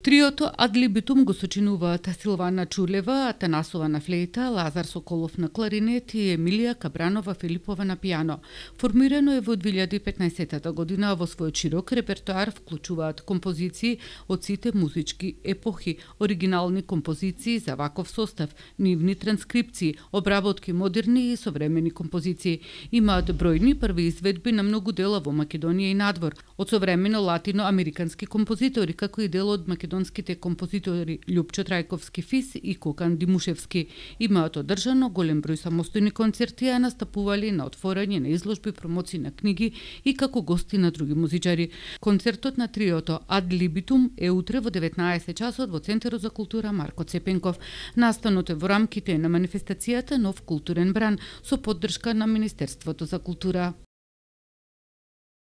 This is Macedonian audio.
Триото Ad libitum го сочинуваат Силвана Чулева, Атанасова на флейта, Лазар Соколов на кларинет и Емилија Кабранова Филипова на пијано. Формирано е во 2015 година, во својот широк репертоар вклучуваат композиции од сите музички епохи, оригинални композиции за ваков состав, нивни транскрипции, обработки модерни и современи композиции. Имаат бројни први изведби на многу дела во Македонија и надвор, од современо латиноамерикански композитори, како и дел од македонските композитори Љупчо Трајковски Фис и Кокан Димушевски. Имаат одржано голем број самостојни концерти, а настапували на отворање на изложби, промоции на книги и како гости на други музичари. Концертот на триото Ad libitum е утре во 19 часот во Центарот за култура Марко Цепенков. Настанот е во рамките на манифестацијата Нов културен бран со поддршка на Министерството за култура.